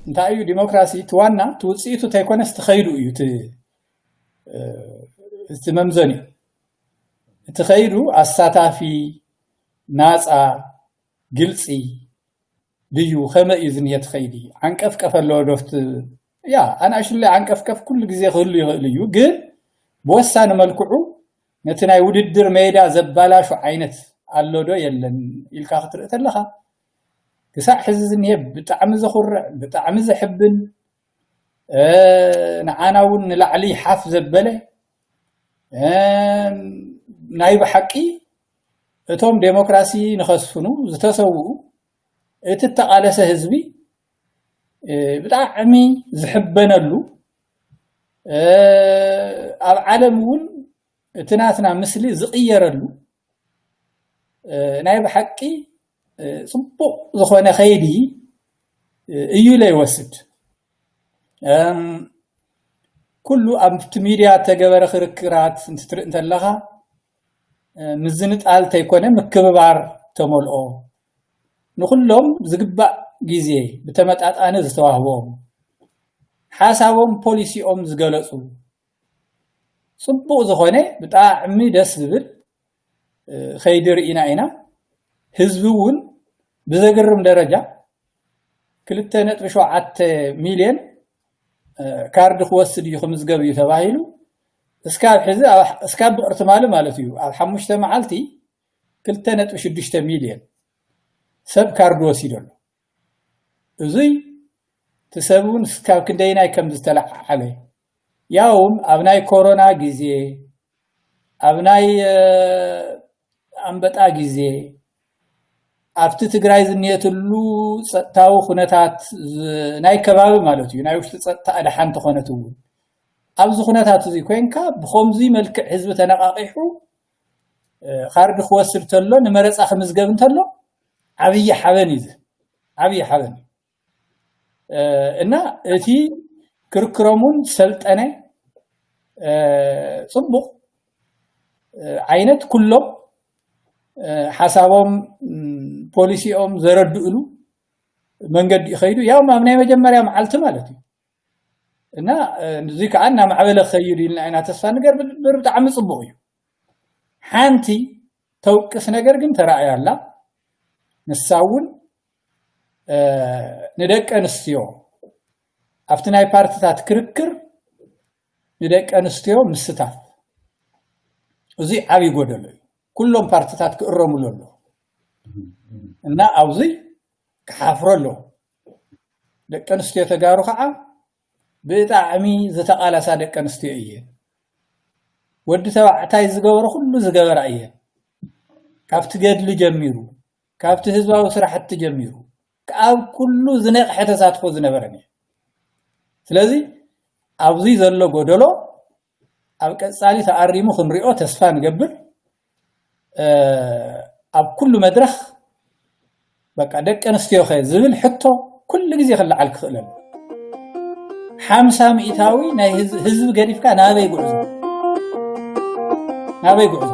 እንታይ እዩ ዲሞክራሲ? እቲ ዋና እቲ ውፅኢቱ እንተይኮነስ እቲ ኸይዱ እዩ እቲ እቲ መምዘኒ። እቲ ኸይዱ ኣሳታፊ፣ ናፃ፣ ግልፂ ድዩ? ከመይ እዩ ዝንሄ እቲ ኸይዲ? ዓንቀፍቀፍ ኣለዎ ዶ? ኣብቲ ያ ኣናእሽለይ ዓንቀፍቀፍ ኩሉ ግዜ ክህሉ ይኽእል እዩ፣ ግን ብወሳኒ መልክዑ ነቲ ናይ ውድድር ሜዳ ዘባላሹ ዓይነት ኣሎ ዶ የለን ኢልካ ክትርኢ ተለኻ፣ ክሳዕ ሕዚ ዝንሄ ብጣዕሚ ዘኹርዕ፣ ብጣዕሚ ዘሕብን፣ ንዓና እውን ንላዕሊ ሓፍ ዘበለ፣ ናይ ብሓቂ እቶም ዴሞክራሲ ንኸስፍኑ ዝተሰውኡ፣ እቲ እተቓለሰ ህዝቢ ብጣዕሚ ዝሕበነሉ፣ ኣብ ዓለም እውን እቲ ናትና ምስሊ ዝቕየረሉ ናይ ብሓቂ ፅቡቕ ዝኾነ ኸይዲ እዩ ኢለ ይወስድ። ኩሉ ኣብቲ ሚድያ እተገበረ ክርክራት እንትትርኢ እንተለኻ፣ ምዝንጣል ተይኮነ ምክብባር ተመልኦ፣ ንኹሎም ዝግባእ ግዜ ብተመጣጣኒ ዝተዋህቦም፣ ሓሳቦም ፖሊሲኦም ዝገለፁ፣ ፅቡቕ ዝኾነ ብጣዕሚ ደስ ዝብል ኸይዲ ርኢና ኢና። ህዝቢ እውን ብዘግርም ደረጃ ክልተ ነጥቢ ሸውዓተ ሚልዮን ካርድ ክወስድ እዩ ክምዝገብ እዩ ተባሂሉ። እስካብ ሕዚ እስካብ ብቕርትማሊ ማለት እዩ ኣብ ሓሙሽተ መዓልቲ ክልተ ነጥቢ ሽዱሽተ ሚልዮን ሰብ ካርድ ወሲዱ ኣሎ። እዙይ እቲ ሰብ እውን እስካብ ክንደይናይ ከም ዝተለዓዓለ፣ ያውም ኣብ ናይ ኮሮና ግዜ፣ ኣብ ናይ ኣንበጣ ግዜ፣ ኣብቲ ትግራይ ዝንሄትሉ ፀጥታዊ ኩነታት፣ ናይ ከባቢ ማለት እዩ፣ ናይ ውሽጢ ፀጥታ ኣድሓ እንተኾነት እውን፣ ኣብዚ ኩነታት እዚ ኮይንካ ብኸምዚ መልክዕ ህዝቢ ተነቓቒሑ ካርድ ክወስድ ተሎ፣ ንመረፃ ክምዝገብ እንተሎ፣ ዓብዪ ሓበን እዩ። ዓብዪ ሓበን እዩ። እና እቲ ክርክሮም እውን ሰልጠነ፣ ፅቡቕ ዓይነት፣ ኩሎም ሓሳቦም፣ ፖሊሲኦም ዘረድእሉ መንገዲ ይኸይዱ። ያውም ኣብ ናይ መጀመርያ መዓልቲ ማለት እዩ። እና እዚ ከዓ እናማዕበለ ክኸይድ ኢልና ኢና ተስፋ ንገብር። ብጣዕሚ ፅቡቕ እዩ። ሓንቲ ተውቅስ ነገር ግን ተራእያ ኣላ። ንሳ እውን ንደቂ ኣንስትዮ ኣብቲ ናይ ፓርትታት ክርክር ንደቂ ኣንስትዮ ምስታፍ፣ እዚ ዓብዪ ጎደሎ እዩ። ኩሎም ፓርትታት ክእረሙሉ ኣለዎ። እና ኣብዚ ክሓፍሮ ኣለዎ። ደቂ ኣንስትዮ ተጋሩ ከዓ ብጣዕሚ ዝተቓላሳ ደቂ ኣንስትዮ እየን። ወዲ ተባዕታይ ዝገበሮ ኩሉ ዝገበራ እየን። ካብቲ ገድሊ ጀሚሩ፣ ካብቲ ህዝባዊ ስራሕቲ ጀሚሩ፣ ኣብ ኩሉ ዝነቕሐ ተሳትፎ ዝነበረን እዩ። ስለዚ ኣብዚ ዘሎ ጎደሎ ኣብ ቀፃሊ ተኣሪሙ ክንሪኦ ተስፋ ንገብር። ኣብ ኩሉ መድረኽ በቃ ደቂ ኣንስትዮ ኸ ዝብል ሕቶ ኩሉ ግዜ ክለዓል ክኽእል ኣሎ። ሓምሳ ሚእታዊ ናይ ህዝቢ ገዲፍካ ናበይ ጉዕዞ? ናበይ ጉዕዞ?